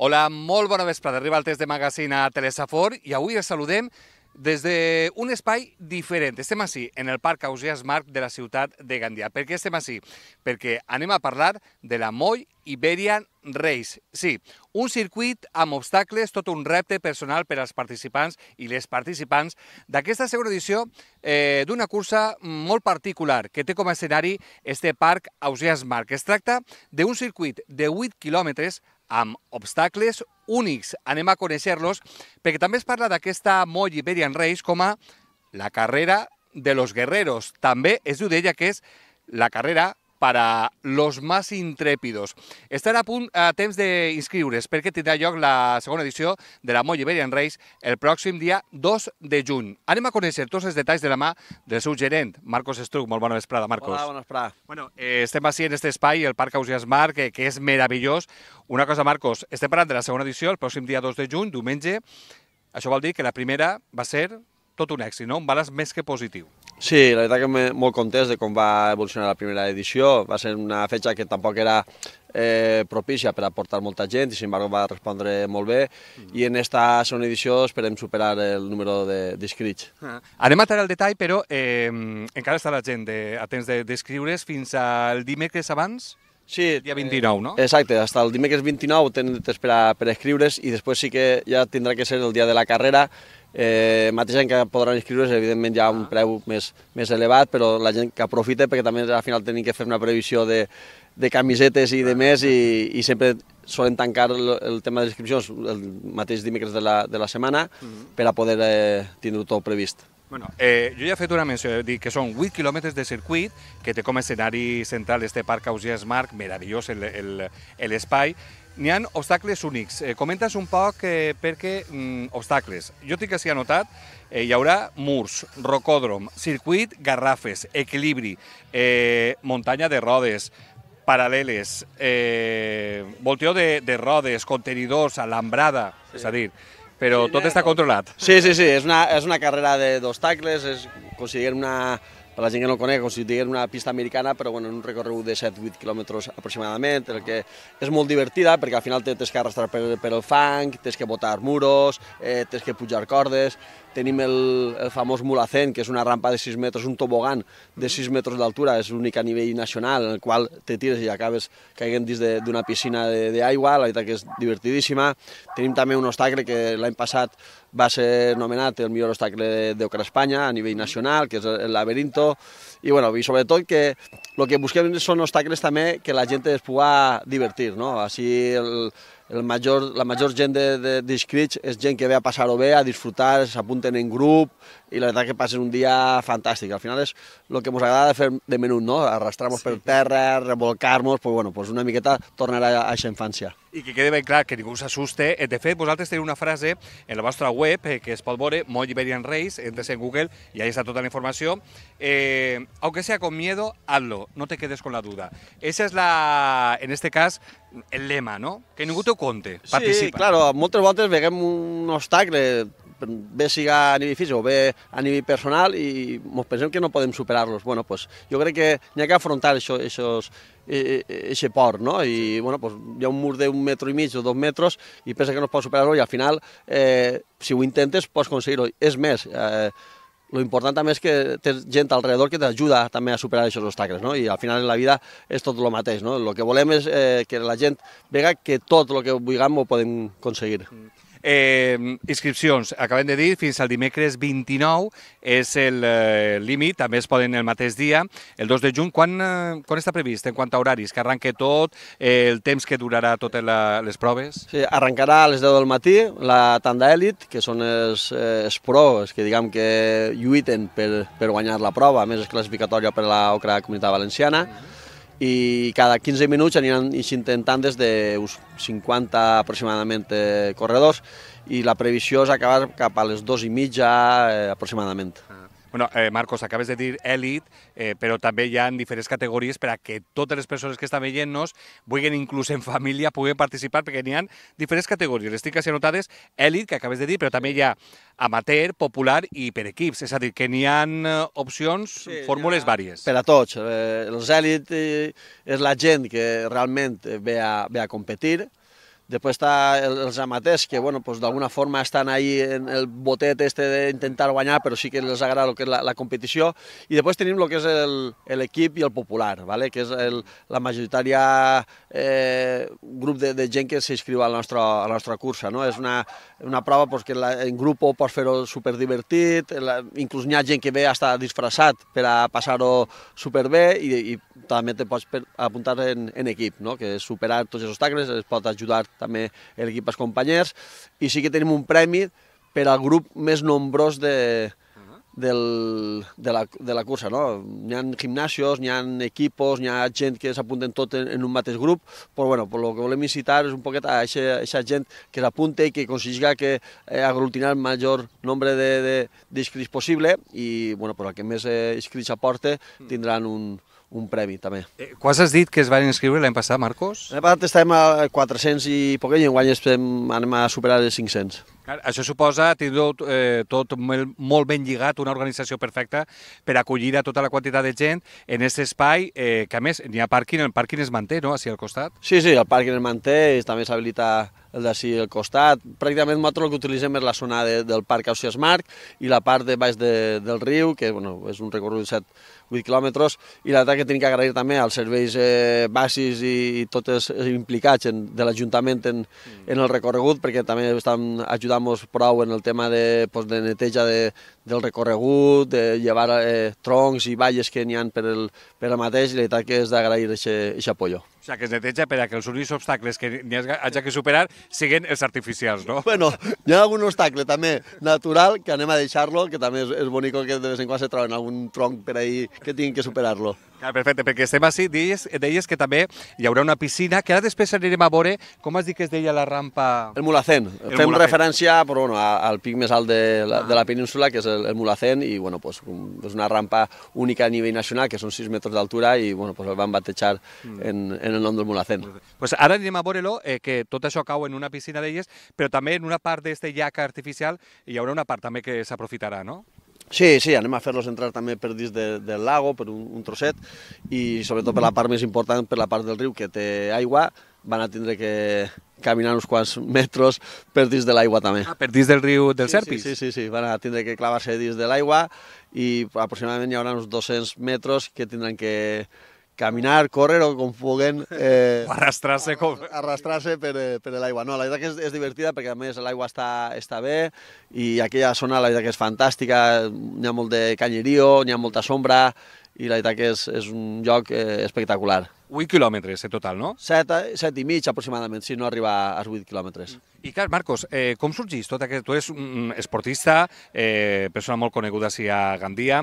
Hola, molt bona vesprada. Arriba el test de magazine a Telesafor i avui els saludem des d'un espai diferent. Estem així, en el Parc Ausiàs Marc de la ciutat de Gandia. Per què estem així? Perquè anem a parlar de la Moll Iberian Race. Sí, un circuit amb obstacles, tot un repte personal per als participants i les participants d'aquesta segona edició d'una cursa molt particular que té com a escenari este Parc Ausiàs Marc. Es tracta d'un circuit de 8 quilòmetres amb obstacles únics. Anem a conèixer-los, perquè també es parla d'aquesta Moll Iberian Race com a la carrera de los guerreros. També es diu d'ella que és la carrera para los más intrépidos. Estan a temps d'inscriure's perquè tindrà lloc la segona edició de la Moll Iberian Race el pròxim dia 2 de juny. Anem a conèixer tots els detalls de la mà del seu gerent, Marcos Estruc. Molt bona vesprada, Marcos. Hola, bona vesprada. Bueno, estem així en aquest espai, el Parc Ausiàs Marc, que és meravellós. Una cosa, Marcos, estem parlant de la segona edició el pròxim dia 2 de juny, diumenge. Això vol dir que la primera va ser tot un èxit, no? Un balanç més que positiu. Sí, la veritat que molt content de com va evolucionar la primera edició. Va ser una fetge que tampoc era propícia per a portar molta gent i, sin embargo, va respondre molt bé. I en esta segona edició esperem superar el número d'inscrits. Anem a entrar al detall, però encara està la gent a temps d'inscriure's fins al dimecres abans? Sí, dia 29, no? Exacte, fins el dimecres 29 tenen temps per inscriure's i després sí que ja tindrà que ser el dia de la carrera. Mateixa gent que podran inscriure's, evidentment hi ha un preu més elevat, però la gent que aprofita, perquè també al final tenim que fer una previsió de camisetes i de més, i sempre solen tancar el tema de les inscripcions el mateix dimecres de la setmana per a poder tindre-ho tot previst. Bueno, jo ja he fet una menció, dic que són 8 quilòmetres de circuit, que té com a escenari central este Parc Ausiàs Marc, meravellós l'espai. N'hi ha obstacles únics. Comentes un poc perquè obstacles. Jo tinc així anotat, hi haurà murs, rocòdrom, circuit, garrafes, equilibri, muntanya de rodes, paral·leles, volteo de rodes, contenidors, alambrada, és a dir, però tot està controlat. Sí, és una carrera d'obstacles, considerem per la gent que no coneix, considerem una pista americana, però en un recorregut de 7-8 quilòmetres aproximadament, el que és molt divertida, perquè al final tens que arrastrar per el fang, tens que botar muros, tens que pujar cordes. Tenim el famós Mulacén, que és una rampa de 6 metres, un tobogan de 6 metres d'altura, és l'únic a nivell nacional, en el qual te tires i acabes caient dins d'una piscina d'aigua, la veritat que és divertidíssima. Tenim també un obstacle que l'any passat va ser nomenat el millor obstacle d'Europa Espanya a nivell nacional, que és el Laberinto, i sobretot que el que busquem són obstacles també que la gent es pugui divertir, no? Així la major gent d'inscrits és gent que ve a passar-ho bé, a disfrutar, s'apunten en grup i la veritat que passen un dia fantàstic. Al final és el que ens agrada fer de menut, no? Arrastrar-nos per terra, revolcar-nos, pues una miqueta tornar a aquesta infància. I que quede ben clar, que ningú s'assuste. De fet, vosaltres teniu una frase en la vostra web que es pot veure, Moll Iberian Race, entres en Google y ahí está toda la información. Aunque sea con miedo, hazlo, no te quedes con la duda. Esa es en este cas, el lema, no? Que ningú t'ho conte, participa. Sí, claro, moltes voltes veiem un obstacle, bé siga a nivell físic o bé a nivell personal, i ens pensem que no podem superar-los. Bueno, pues jo crec que n'hi ha que afrontar aquest por, no? I hi ha un mur d'1,5 metres o 2 metres i pensa que no es pot superar-lo i al final, si ho intentes, pots aconseguir-ho. És més, l'important també és que tens gent alrededor que t'ajuda també a superar aquests obstacles, no? I al final en la vida és tot el mateix, no? El que volem és que la gent vega que tot el que vulguem ho podem aconseguir. Inscripcions, acabem de dir, fins al dimecres 29 és el límit, també es poden el mateix dia, el 2 de juny. Quan està previst en quant a horaris? Que arranque tot, el temps que durarà totes les proves? Sí, arrencarà a les 10 del matí la tanda èlit, que són els pros, que diguem que lluiten per guanyar la prova, a més és classificatòria per a l'Ocra Comunitat Valenciana, i cada 15 minuts aniran intentant des d'uns 50 aproximadament corredors i la previsió és acabar cap a les 2:30 aproximadament. Bueno, Marcos, acabes de dir èlit, però també hi ha diferents categories per a que totes les persones que estan veient-nos, vulguin inclús en família, puguen participar, perquè n'hi ha diferents categories. Les tinc així anotades, èlit, que acabes de dir, però també hi ha amateur, popular i per equips. És a dir, que n'hi ha opcions, fórmules vàries. Per a tots. Els èlit és la gent que realment ve a competir. Després està els amateurs, que bueno, pues, d'alguna forma estan ahí en el botet este d'intentar guanyar, però sí que els agrada el que és la competició. I després tenim el que és l'equip i el popular, ¿vale? Que és la majoritària grup de gent que s'inscriu a la nostra cursa. No? És una prova pues, que en grup pots fer-ho superdivertit, inclús hi ha gent que ve a estar disfressat per a passar-ho superbé i també te pots apuntar en equip, no? Que és superar tots els obstacles, es pot ajudar també l'equip als companys, i sí que tenim un premi per al grup més nombrós de la cursa. No? Hi ha gimnasios, hi ha equipos, hi ha gent que s'apunten tot en un mateix grup, però bueno, el que volem incitar és un poquet a aquesta gent que s'apunte i que aconseguirà que aglutinar el major nombre d'inscrits possible i bueno, el que més inscrits aporte tindran un premi també. Quants has dit que es van inscriure l'any passat, Marcos? L'any passat estàvem a 400 i poquet i enguany anem a superar els 500. Això suposa tindre tot molt ben lligat, una organització perfecta per acollir a tota la quantitat de gent en aquest espai, que a més n'hi ha pàrquing, el pàrquing es manté, no?, així al costat? Sí, el pàrquing es manté i també s'habilita el d'ací al costat. Pràcticament nosaltres el que utilitzem és la zona del Parc Ausiàs Marc i la part de baix del riu, que bueno, és un recorregut de 7-8 quilòmetres, i la veritat que tenim que agrair també als serveis bàsics i tots els implicats de l'Ajuntament en el recorregut, perquè també estan ajudant-nos prou en el tema de neteja del recorregut, de llevar troncs i valles que n'hi ha per al mateix, i la veritat que és d'agrair aquest apoyo. O sigui, que es neteja per a que els únics obstacles que n'hi hagi que superar siguin els artificials, no? Bueno, hi ha algun obstacle també natural que anem a deixar-lo, que també és bonic que de vez en quan se troben algun tronc per ahí que tinguin que superar-lo. Perfecte, perquè estem així, deies que també hi haurà una piscina, que ara després anirem a veure, com has dit que es deia la rampa? El Mulhacén. Fem referència però, bueno, al pic més alt de la península, que és el Mulhacén, i bueno, pues, és una rampa única a nivell nacional, que són 6 metres d'altura, i bueno, pues, el van batejar en el nom del Mulhacén. Pues ara anirem a veure-lo, que tot això cau en una piscina d'elles, però també en una part d'aquest llac artificial hi haurà una part també que s'aprofitarà, no? Sí, anem a fer-los entrar també per dins del lago, per un trosset, i sobretot per la part més important, per la part del riu que té aigua, van a tindre que caminar uns quants metres per dins de l'aigua també. Per dins del riu del Serpis? Sí, van a tindre que clavar-se dins de l'aigua i aproximadament hi haurà uns 200 metres que tindran que caminar, córrer o com puguen... Arrastrar-se per l'aigua. No, la veritat que és divertida perquè a més l'aigua està bé i aquella zona la veritat que és fantàstica, hi ha molt de canyerío, hi ha molta sombra i la veritat que és un lloc espectacular. 8 quilòmetres en total, no? 7 i mig aproximadament, si no arriba als 8 quilòmetres. I clar, Marcos, com sorgís tot aquest... Tu ets un esportista, persona molt coneguda així a Gandia,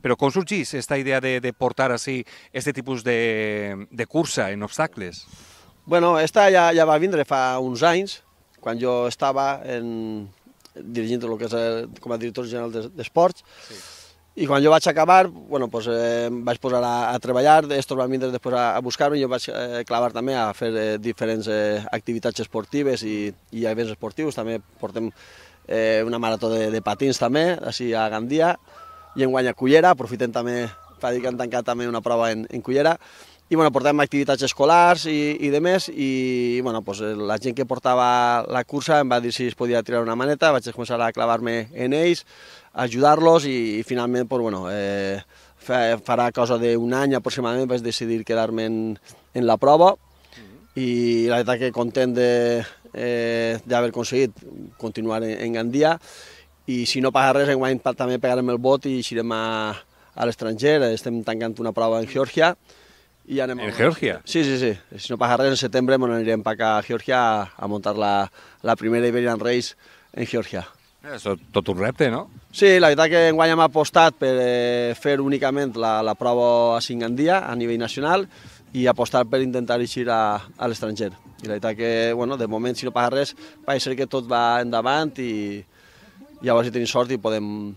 però com sorgís aquesta idea de portar així aquest tipus de cursa en obstacles? Bueno, esta ja va vindre fa uns anys, quan jo estava dirigint el que és com a director general d'esports, i quan jo vaig acabar, bueno, pues, em vaig posar a treballar, estos van vindre després a buscar-me, i jo vaig clavar també a fer diferents activitats esportives i events esportius, també portem una marató de patins també, així a Gandia, i enguany a Cullera, aprofitem també, fa dir que han tancat també una prova en Cullera, i bueno, portem activitats escolars i de més, i bueno, pues, la gent que portava la cursa em va dir si es podia tirar una maneta, vaig començar a clavar-me en ells, ajudar-los i finalment, pues, bueno, farà cosa d'un any aproximadament vaig decidir quedar-me en la prova i la veritat que content d'haver aconseguit continuar en Gandia, i si no passa res enguany també pegarem el bot i eixirem a l'estranger, estem tancant una prova en Geòrgia. ¿En Georgia? Sí. Si no passa res, en setembre anirem per acá a Geòrgia a muntar la primera Iberian Race en Geòrgia. És tot un repte, no? Sí, la veritat que enguany hem apostat per fer únicament la prova a Gandia a nivell nacional i apostar per intentar eixir a l'estranger. I la veritat que, bueno, de moment, si no passa res, pareix ser que tot va endavant i llavors si tenim sort i podem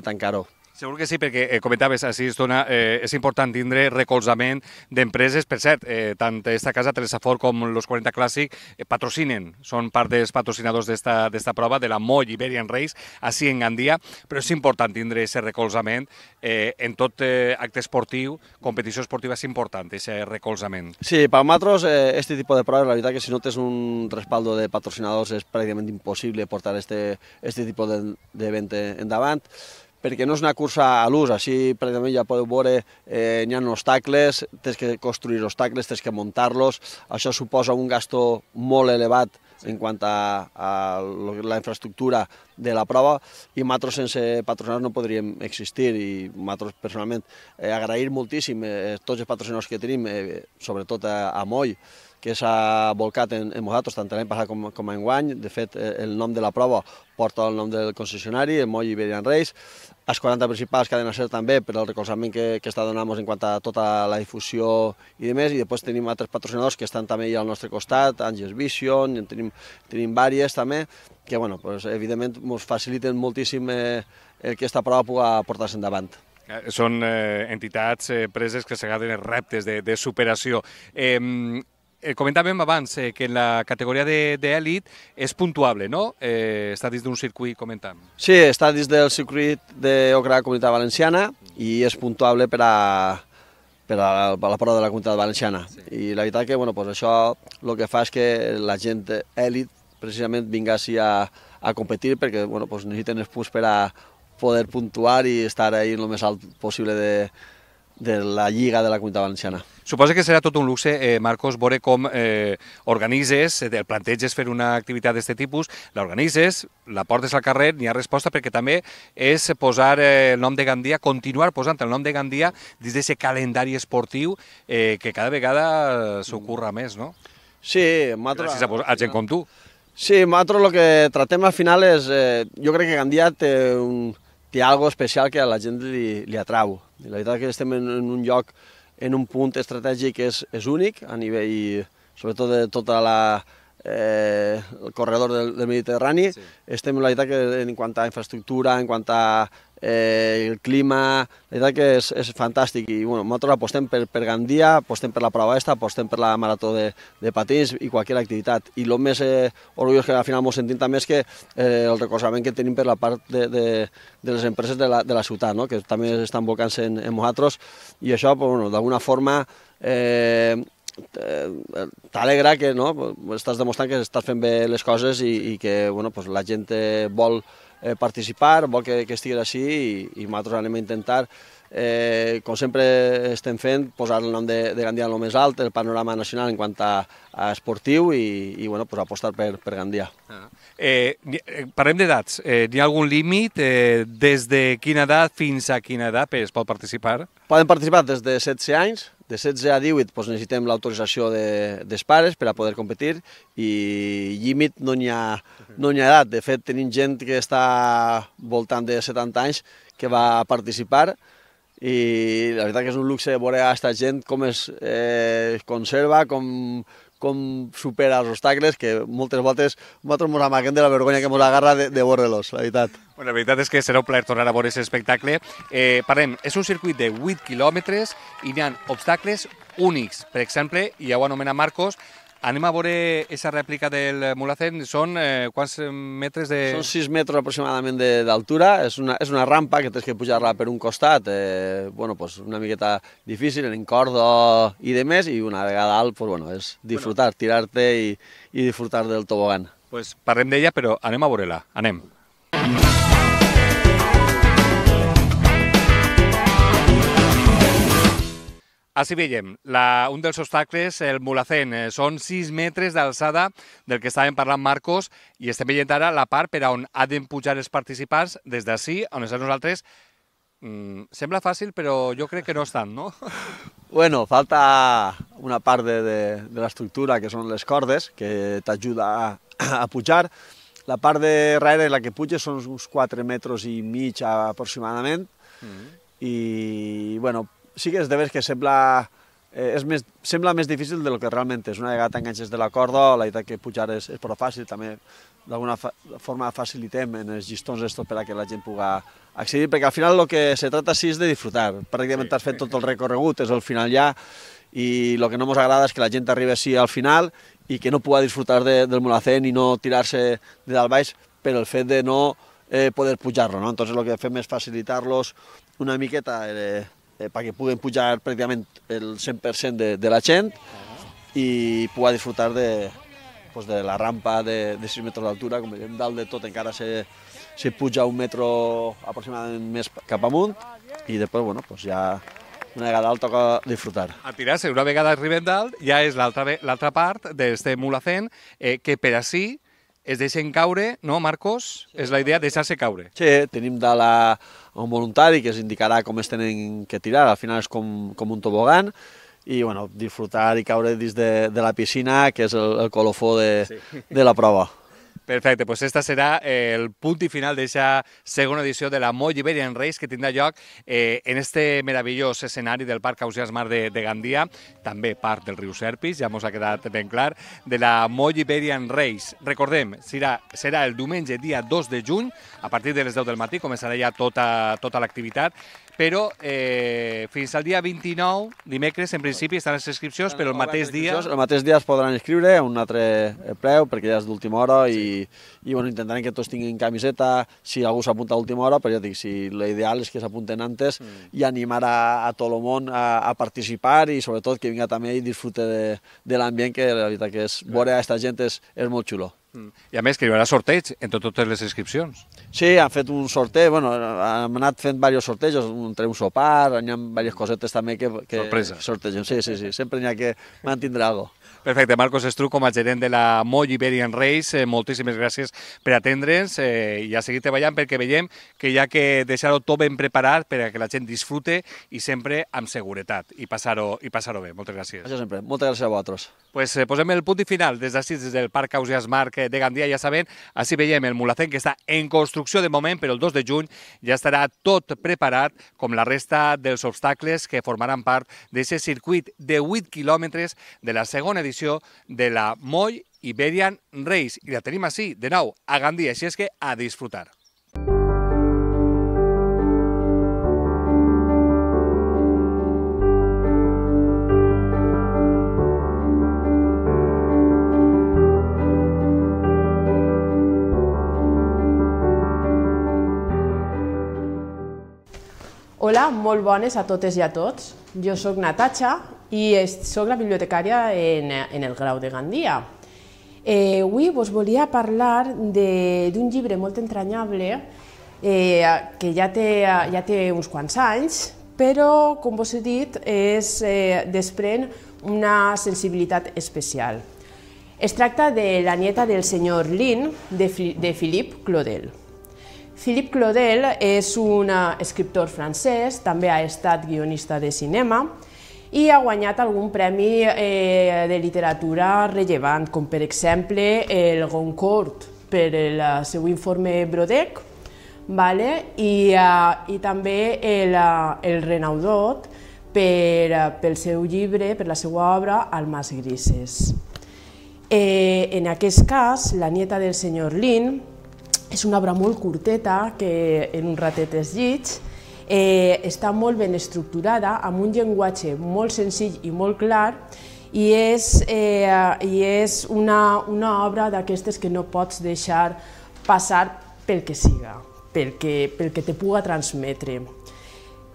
tancar-ho. Segur que sí, perquè comentaves, així és important tindre recolzament d'empreses. Per cert, tant esta casa, Telesafort, com los 40 Clàssic patrocinen, són part dels patrocinadors d'esta prova, de la Moll Iberian Race, així en Gandia, però és important tindre aquest recolzament en tot acte esportiu, competició esportiva, és important, aquest recolzament. Sí, per nosaltres, este tipus de proves, la veritat que si no tens un respaldo de patrocinadors és pràcticament impossible portar este tipus d'event endavant, perquè no és una cursa a l'ús, així pràcticament ja podeu veure, n'hi ha obstacles, tens que construir obstacles, tens que muntar-los, això suposa un gasto molt elevat en quant a la infraestructura de la prova, i nosaltres sense patrocinadors no podríem existir, i nosaltres personalment agrair moltíssim tots els patrocinadors que tenim, sobretot a Moll, que s'ha volcat en nosaltres, tant l'any passat com enguany. De fet, el nom de la prova porta el nom del concessionari, el Moll Iberian Race. Els 40 principals, Cadena Ser també, per el recolzament que està donant-nos en quant a tota la difusió i demés. I després tenim altres patrocinadors que estan també al nostre costat, Angels Vision, tenim diverses també, que evidentment ens faciliten moltíssim que aquesta prova pugui portar-se endavant. Són entitats, empreses que s'agafen reptes de superació. Comentàvem abans que en la categoria d'èlit és puntuable, no? Està dins d'un circuit, comentam. Sí, està dins del circuit d'Ocra Comunitat Valenciana i és puntuable per a la prova de la Comunitat Valenciana. I la veritat que això el que fa és que la gent èlit precisament vinga així a competir, perquè necessiten els punts per a poder puntuar i estar ahí el més alt possible de la lliga de la Comunitat Valenciana. Suposo que serà tot un luxe, Marcos, veure com organitzes, el planteges fer una activitat d'aquest tipus, l'organitzes, la portes al carrer, n'hi ha resposta, perquè també és posar el nom de Gandia, continuar posant el nom de Gandia dins d'aquest calendari esportiu que cada vegada s'ocorre més, no? Sí, gràcies a gent com tu. Sí, nosaltres el que tratem al final és, jo crec que Gandia té algo especial que a la gent li atrau. I la veritat que estem en un lloc, en un punt estratègic que és únic a nivell, sobretot de tot el corredor del Mediterrani. Sí. Estem, la veritat, que en quant a infraestructura, en quant a el clima, la veritat que és fantàstic. I nosaltres apostem per Gandia, apostem per la prova esta, apostem per la marató de patins i qualsevol activitat. I el més orgullós que al final ens sentim també és que el recolzament que tenim per la part de les empreses de la ciutat, no? Que també estan volcant-se en nosaltres, i això d'alguna forma t'alegra que estàs demostrant que estàs fent bé les coses i que la gent vol participar, vol que estiguis així, i nosaltres anem a intentar, com sempre estem fent, posar el nom de Gandia en el més alt, el panorama nacional en quant a esportiu, i apostar per Gandia. Parlem d'edats. N'hi ha algun límit? Des de quina edat fins a quina edat es pot participar? Poden participar des de 16 anys, de 16 a 18 necessitem l'autorització dels pares per a poder competir, i límit no n'hi ha edat. De fet, tenim gent que està voltant de 70 anys que va participar, i la veritat que és un luxe veure a aquesta gent com es conserva, com supera els obstacles, que moltes voltes nosaltres ens amaguem de la vergonya que ens agarra de veure-los, la veritat. La veritat és que serà un plaer tornar a veure aquest espectacle. Parlem, és un circuit de 8 quilòmetres i n'hi ha obstacles únics. Per exemple, i ja ho anomena Marcos, anem a veure aquesta rèplica del Mulhacén. Són quants metres de... Són 6 metres aproximadament d'altura. És una rampa que tens que pujar-la per un costat, una miqueta difícil, en corda i demés, i una vegada alt, és disfrutar, tirar-te i disfrutar del tobogan. Parlem d'ella, però anem a veure-la. Anem. Així veiem, un dels obstacles, el Mulhacén, són 6 metres d'alçada del que estàvem parlant, Marcos, i estem veient ara la part per on han de pujar els participants des d'ací, on estem nosaltres. Sembla fàcil, però jo crec que no és tant, no? Falta una part de l'estructura, que són les cordes, que t'ajuda a pujar. La part de darrere, la que puja, són uns 4 metres i mig aproximadament, i, sí que és de veres que sembla sembla més difícil del que realment és. Una vegada t'enganxes de la corda, la veritat que pujar és prou fàcil, també d'alguna forma facilitem en els llistons estos per a que la gent pugui accedir, perquè al final el que se trata sí és de disfrutar. Pràcticament has fet tot el recorregut, és el final ja, i el que no ens agrada és que la gent arribi així al final i que no pugui disfrutar del Mulhacén i no tirar-se de dalt baix per el fet de no poder pujar-lo, no? Entonces el que fem és facilitar-los una miqueta perquè puguen pujar pràcticament el 100% de la gent i pugui disfrutar de la rampa de 6 metres d'altura. Com veiem, dalt de tot encara se puja 1 metro aproximadament més cap amunt i després, bueno, ja una vegada dalt toca disfrutar. A tirar-se, una vegada arribem dalt, ja és l'altra part d'este Mulhacén, que per ací es deixen caure, no, Marcos? És la idea, deixar-se caure. Sí, tenim dalt un voluntari que ens indicarà com es tenen que tirar, al final és com un tobogan, i bueno, disfrutar i caure dins de la piscina, que és el colofó de la prova. Perfecte, doncs este serà el punt i final d'aquesta segona edició de la Moll Iberian Race que tindrà lloc en este meravellós escenari del Parc Ausiàs Marc de Gandia, també part del riu Serpis, ja ens ha quedat ben clar, de la Moll Iberian Race. Recordem, serà el diumenge dia 2 de juny, a partir de les 10 del matí, començarà ja tota l'activitat, però fins al dia 29, dimecres, en principi, estan les inscripcions, però el mateix dia... El mateix dia es podran inscriure a un altre preu, perquè ja és d'última hora, i bueno, intentarem que tots tinguin camiseta, si algú s'apunta a última hora, però ja dic, si l'ideal és que s'apunten antes i animar a tot el món a participar i sobretot que vinga també i disfrute de l'ambient, que la veritat que és veure a aquesta gent és molt xulo. I a més que hi haurà sorteig entre totes les inscripcions. Sí, han fet un sorteig, bueno, hem anat fent diversos sortejos, entre un sopar, hi ha diverses cosetes també que sortegem. Sí, sempre n'hi ha que mantindre alguna cosa. Perfecte, Marcos Estruch, com a gerent de la Moll Iberian Race, moltíssimes gràcies per atendre'ns i a seguir treballant perquè veiem que hi ha que deixar-ho tot ben preparat per a que la gent disfrute i sempre amb seguretat i passar-ho bé. Moltes gràcies. Això sempre. Moltes gràcies a vosaltres. Pues posem el punt i final des d'ací, des del Parc Ausiàs Marc de Gandia, ja saben, així veiem el Mulhacén que està en construcció de moment, però el 2 de juny ja estarà tot preparat com la resta dels obstacles que formaran part d'aquest circuit de 8 quilòmetres de la segona edició de la Moll Iberian Race. I la tenim així, de nou, a Gandia, així és que a disfrutar. Hola, molt bones a totes i a tots. Jo sóc Natasha i sóc la bibliotecària en el Grau de Gandia. Avui vos volia parlar d'un llibre molt entranyable que ja té uns quants anys, però, com vos he dit, desprèn una sensibilitat especial. Es tracta de La nieta del senyor Lin, de Philippe Claudel. Philippe Claudel és un escriptor francès, també ha estat guionista de cinema i ha guanyat algun premi de literatura rellevant, com per exemple el Goncourt per el seu informe Brodeck i també el Renaudot pel seu llibre, per la seva obra Almas grises. En aquest cas, La nieta del senyor Lin és una obra molt curteta que en un ratet es llig, està molt ben estructurada, amb un llenguatge molt senzill i molt clar, i és una obra d'aquestes que no pots deixar passar pel que siga, pel que te puga transmetre.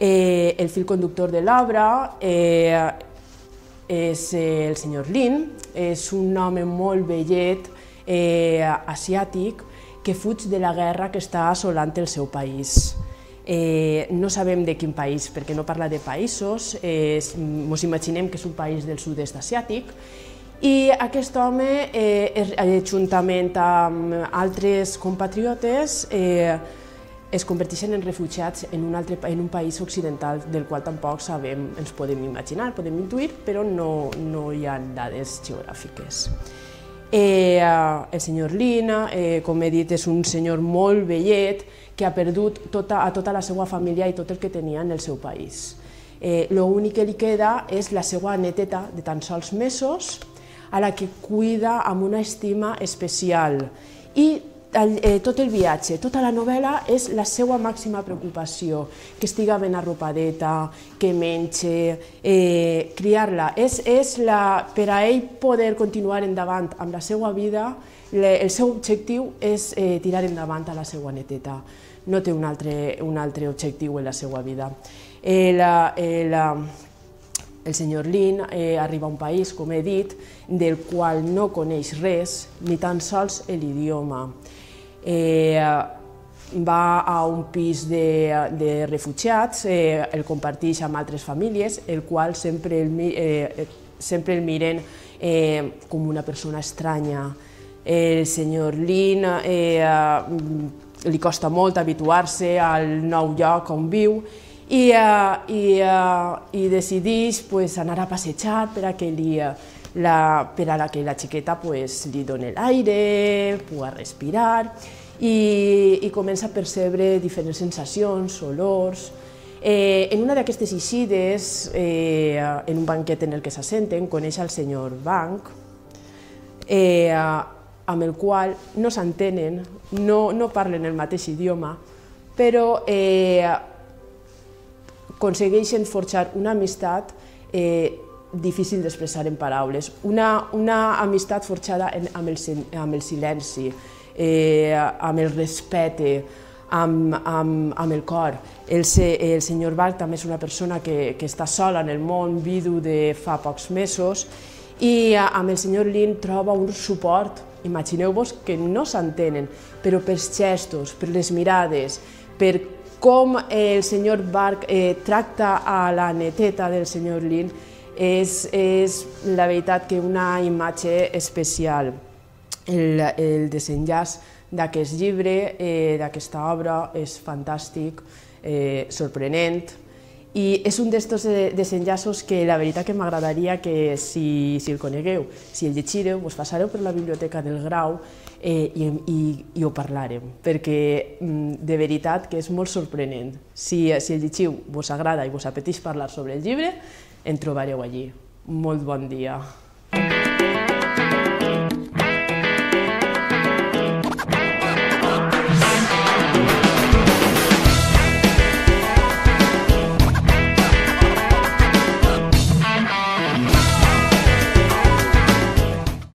El fil conductor de l'obra és el senyor Lin, és un home molt vellet, asiàtic, que fuig de la guerra que està assolant el seu país. No sabem de quin país, perquè no parla de països, ens imaginem que és un país del sud-est asiàtic, i aquest home, juntament amb altres compatriotes, es converteixen en refugiats en un país occidental del qual tampoc sabem, ens podem imaginar, podem intuir, però no hi ha dades geogràfiques. El senyor Lin, com he dit, és un senyor molt vellet que ha perdut a tota la seva família i tot el que tenia en el seu país. L'únic que li queda és la seva neteta de tan sols mesos, a la que cuida amb una estima especial. I tot el viatge, tota la novel·la és la seva màxima preocupació, que estiga ben arropadeta, que mengi, criar-la. Per a ell poder continuar endavant amb la seva vida, el seu objectiu és tirar endavant a la seva neteta. No té un altre objectiu en la seva vida. El senyor Lin arriba a un país, com he dit, del qual no coneix res, ni tan sols l'idioma. Va a un pis de refugiats, el comparteix amb altres famílies, el qual sempre el miren com una persona estranya. El senyor Lin li costa molt habituar-se al nou lloc on viu i decideix anar a passejar per a que la xiqueta li doni l'aire, pugui respirar i comença a percebre diferents sensacions, olors. En una d'aquestes eixides, en un banquet en el que s'assenten, coneix el senyor Bank, amb el qual no s'entenen, no parlen el mateix idioma, però aconsegueixen forjar una amistat difícil d'expressar en paraules, una amistat forjada amb el silenci, amb el respecte, amb el cor. El senyor Bach també és una persona que està sola en el món, vidu de fa pocs mesos, i amb el senyor Lin troba un suport. Imagineu-vos que no s'entenen, però pels gestos, per les mirades, per com el senyor Bach tracta a la neteta del senyor Lin, és la veritat que una imatge especial. El desenllaç d'aquest llibre, d'aquesta obra, és fantàstic, sorprenent, i és un d'estos desenllaços que la veritat que m'agradaria que si el conegueu, si el llegireu, vos passareu per la biblioteca del Grau i ho parlarem, perquè de veritat que és molt sorprenent. Si el llegiu vos agrada i vos apeteix parlar sobre el llibre, en trobareu allí. Molt bon dia.